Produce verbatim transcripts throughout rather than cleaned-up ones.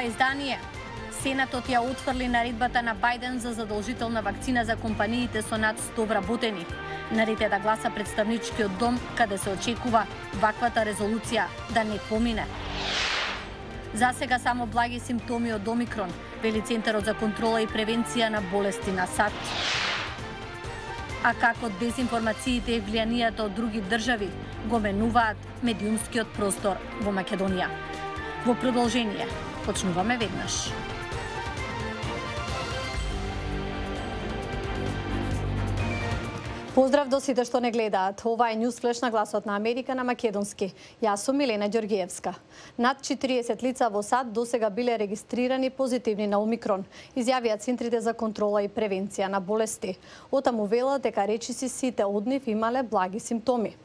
ова издание. Сенатот ја отфрли наредбата на Бајден за задолжителна вакцина за компаниите со над сто вработени. Наред е да гласа представничкиот дом, каде се очекува ваквата резолуција да не помине. За сега само благи симптоми од Омикрон, вели Центарот за контрола и превенција на болести на САД. А како дезинформациите и влијанието од други држави го менуваат медиумскиот простор во Македонија. Во продолжение, почнуваме веднаш. Поздрав до сите што не гледаат. Ова е News Flash на Гласот на Америка на македонски. Јас сум Милена Ѓоргиевска. Над четириесет лица во САД досега биле регистрирани позитивни на Омикрон, изјавија центрите за контрола и превенција на болести. Отаму вела дека речиси сите од нив имале благи симптоми.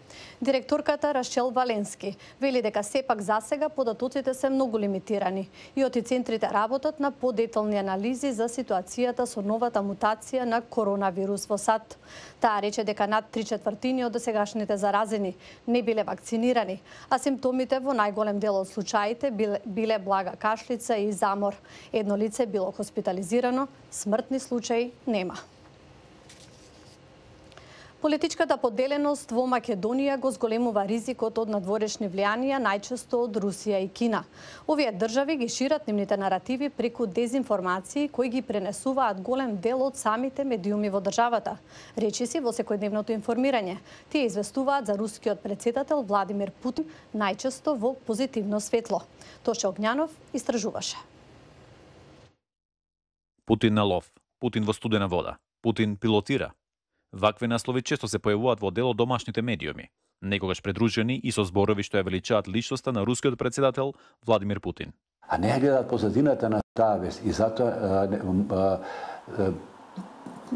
Директорката Рашел Валенски вели дека сепак засега податоците се многу лимитирани и оти центрите работат на подетални анализи за ситуацијата со новата мутација на коронавирус во САД. Таа рече дека над три четвртини од досегашните заразени не биле вакцинирани, а симптомите во најголем дел од случаите биле, биле блага кашлица и замор. Едно лице било хоспитализирано, смртни случаи нема. Политичката поделеност во Македонија го зголемува ризикот од надворешни влијанија, најчесто од Русија и Кина. Овие држави ги шират нивните наративи преку дезинформации кои ги пренесуваат голем дел од самите медиуми во државата. Речиси во секојдневното информирање. Тие известуваат за рускиот претседател Владимир Путин најчесто во позитивно светло. Тоше Огњанов истражуваше. Путин на лов, Путин во студена вода, Путин пилотира. Вакви наслови често се појавуваат во дел од домашните медиуми, некогаш придружени и со зборови што ја величаат личноста на рускиот претседател Владимир Путин. А не гледаат позадината на таа вест и затоа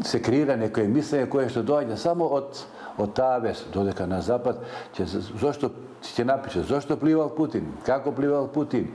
се креира некој мислење кое што доаѓа само од од таа вест, додека на запад ќе зошто ќе напише зошто пливал Путин, како пливал Путин.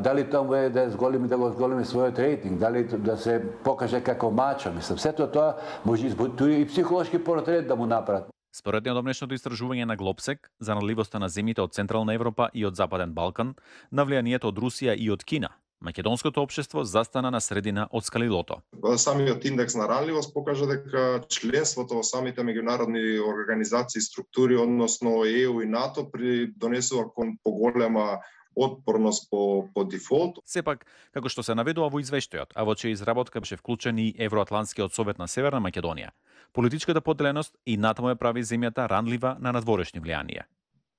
Дали таму е да зголеми да го зголеми својот рейтинг, дали да се покаже како мачо, мислам, сето тоа може и психолошки портрет да му направат. Според неодамнешното истражување на Глобсек за наливоста на земјите од Централна Европа и од Западен Балкан, на влијанието од Русија и од Кина, македонското општество застана на средина од скалилото. Самиот индекс на ранливост покажа дека членството во самите меѓународни организации, структури, односно Е У и НАТО, донесува кон поголема отпорност по, по дефолт. Сепак, како што се наведува во извештајот, а во чија изработка беше вклучен и Евроатлантскиот совет на Северна Македонија, политичката поделеност и натаму ја прави земјата ранлива на надворешни влијанија.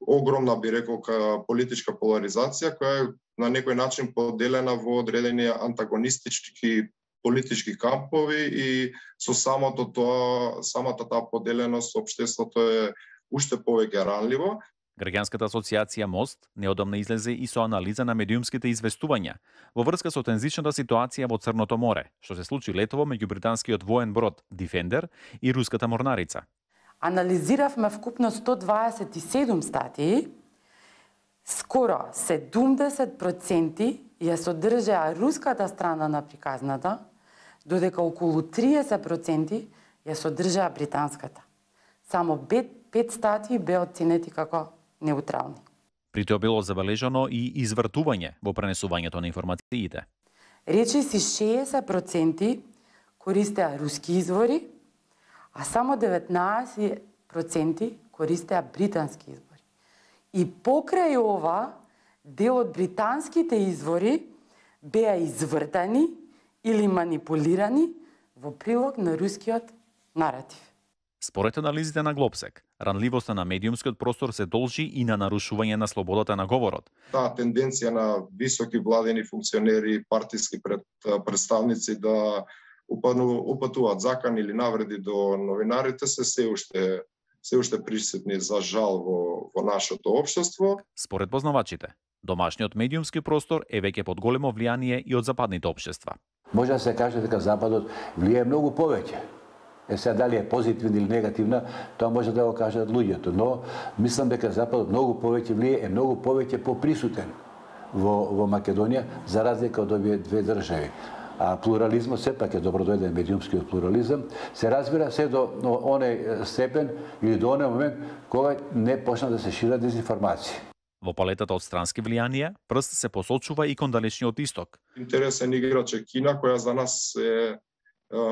Огромна, би рекол, политичка поларизација, која е на некој начин поделена во одредени антагонистички политички кампови и со самото тоа, самата таа поделеност општеството е уште повеќе ранливо. Граѓанската асоциација Мост неодамна излезе и со анализа на медиумските известувања во врска со тензичната ситуација во Црното море, што се случи летово меѓу британскиот воен брод Defender и руската морнарица. Анализиравме вкупно сто дваесет и седум статии, скоро седумдесет проценти ја содржаа руската страна на приказната, додека околу триесет проценти ја содржаа британската. Само пет статии беа оценети како неутрални. При тоа било забележано и извртување во пренесувањето на информациите. Речиси шеесет проценти користеа руски извори, а само деветнаесет проценти користеа британски извори. И покрај ова, дел од британските извори беа извртани или манипулирани во прилог на рускиот наратив. Според анализите на Глобсек, ранливоста на медиумскиот простор се должи и на нарушување на слободата на говорот. Таа тенденција на високи владени функционери и партиски пред, представници да упану, упатуваат закани или навреди до новинарите се се уште се уште присутни за жал во, во нашето општество. Според познавачите, домашниот медиумски простор е веќе под големо влијание и од западните општества. Може да се каже дека Западот влијае многу повеќе. Е сега дали е позитивна или негативна, тоа може да го кажат луѓето, но мислам дека Западот многу повеќе влијае, е многу повеќе поприсутен во, во Македонија, за разлика од овие две држави. А плурализмот сепак е добродојден, медиумскиот плурализам, се разбира се до оној степен или до оној момент кога не почна да се шират дезинформации. Во палетата од странски влијанија, прст се посочува и кон далечниот исток. Интересен играч е Кина, која за нас е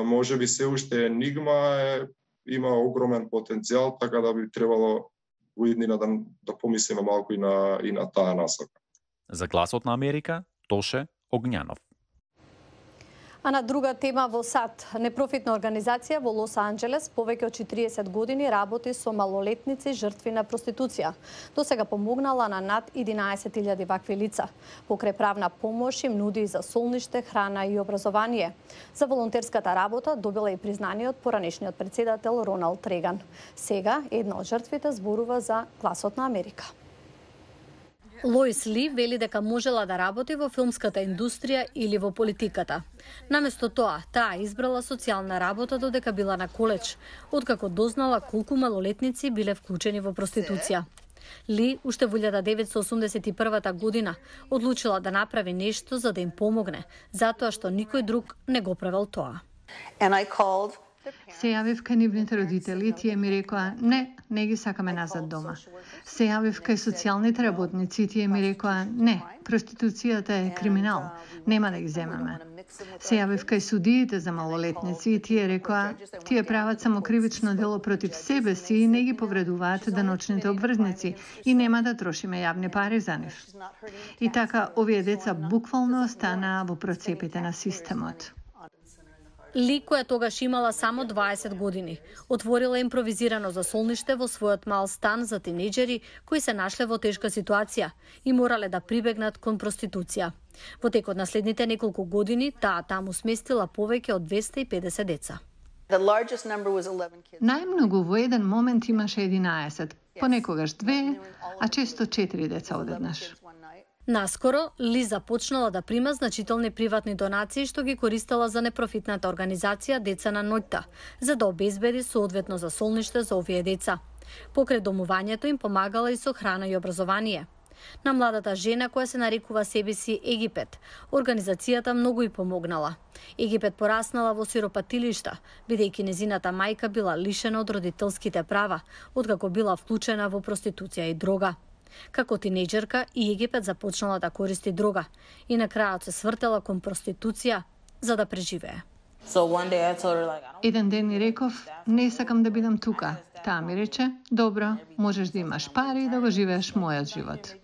можеби се уште енигма, е, има огромен потенцијал, така да би требало во иднина да, да помислиме малку и на, и на таа насока. За Гласот на Америка, Тоше Огњанов. А на друга тема во САД, непрофитна организација во Лос Анџелес повеќе од четириесет години работи со малолетници жртви на проституција. До сега помогнала на над единаесет илјади вакви лица. Покрај правна помош им нуди за солниште, храна и образование. За волонтерската работа добила и признание од поранешниот председател Роналд Реган. Сега една од жртвите зборува за Гласот на Америка. Лоис Ли вели дека можела да работи во филмската индустрија или во политиката. Наместо тоа, таа избрала социјална работа додека била на коледж, откако дознала колку малолетници биле вклучени во проституција. Ли, уште во илјада деветстотини осумдесет и прва година, одлучила да направи нешто за да им помогне, затоа што никој друг не го правел тоа. Се јавив кај нивните родители и тие ми рекоа, не, не ги сакаме назад дома. Се јавив кај социјалните работници и тие ми рекоа, не, проституцијата е криминал, нема да ги земаме. Се јавив кај судиите за малолетници и тие рекоа, тие прават само кривично дело против себе си и не ги повредуваат даночните обврзници и нема да трошиме јавни пари за нив. И така, овие деца буквално останаа во процепите на системот. Ли, која тогаш имала само дваесет години, отворила импровизирано засолниште во својот мал стан за тинејџери кои се нашле во тешка ситуација и морале да прибегнат кон проституција. Во текот на следните неколку години, таа таму сместила повеќе од двесте и педесет деца. Најмногу во еден момент имаше единаесет, понекогаш две, а често четири деца одеднаш. Наскоро, Ли започнала да прима значителни приватни донации што ги користела за непрофитната организација Деца на ноќта, за да обезбеди соодветно засолниште за овие деца. Покрај домувањето им помагала и со храна и образование. На младата жена која се нарекува себе си Египет, организацијата многу и помогнала. Египет пораснала во сиропатилишта, бидејќи незината мајка била лишена од родителските права, откако била вклучена во проституција и дрога. Како тинејџерка и Египет започнала да користи дрога и на крајот се свртела кон проституција за да преживее. Еден ден ни реков, не сакам да бидам тука. Таа ми рече, добро, можеш да имаш пари и да го живееш мојот живот.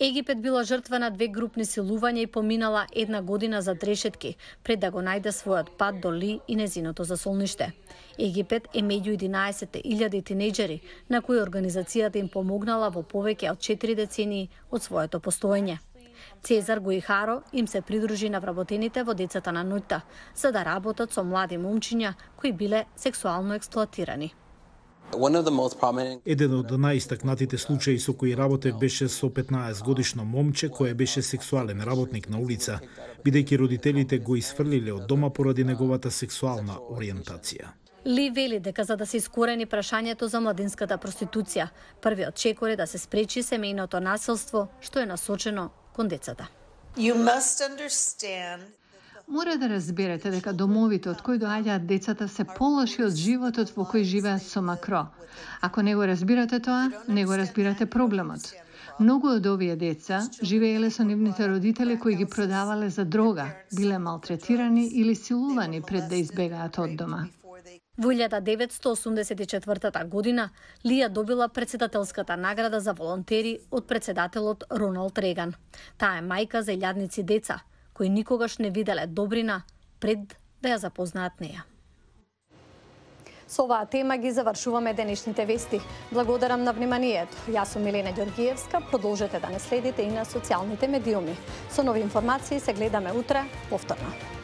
Египет била жртва на две групни силувања и поминала една година за трешетки, пред да го најде својот пат до Ли и незиното засолниште. Египет е меѓу единаесет илјади тинејџери, на кои организацијата им помогнала во повеќе од четири децении од своето постоење. Цезар Гоихаро им се придружи на вработените во Децата на ноќта, за да работат со млади момчиња кои биле сексуално експлоатирани. Еден од најистакнатите случаи со кои работев беше со петнаесет годишно момче кое беше сексуален работник на улица, бидејќи родителите го исфрлиле од дома поради неговата сексуална ориентација. Ли вели дека за да се искорени прашањето за младинската проституција, првиот чекор е да се спречи семејното насилство што е насочено кон децата. Мора да разберете дека домовите од кои доаѓаат децата се полоши од животот во кој живеат со макро. Ако не го разбирате тоа, не го разбирате проблемот. Многу од овие деца живееле со нивните родители кои ги продавале за дрога, биле малтретирани или силувани пред да избегаат од дома. Во илјада деветстотини осумдесет и четвртата година Лија добила председателската награда за волонтери од председателот Роналд Реган. Таа е мајка за илјадници деца, кои никогаш не виделе добрина пред да ја запознаат неја. Со оваа тема ги завршуваме денешните вести. Благодарам на вниманието. Јас сум Милена Ѓоргиевска. Продолжете да не следите и на социјалните медиуми. Со нови информации се гледаме утре повторно.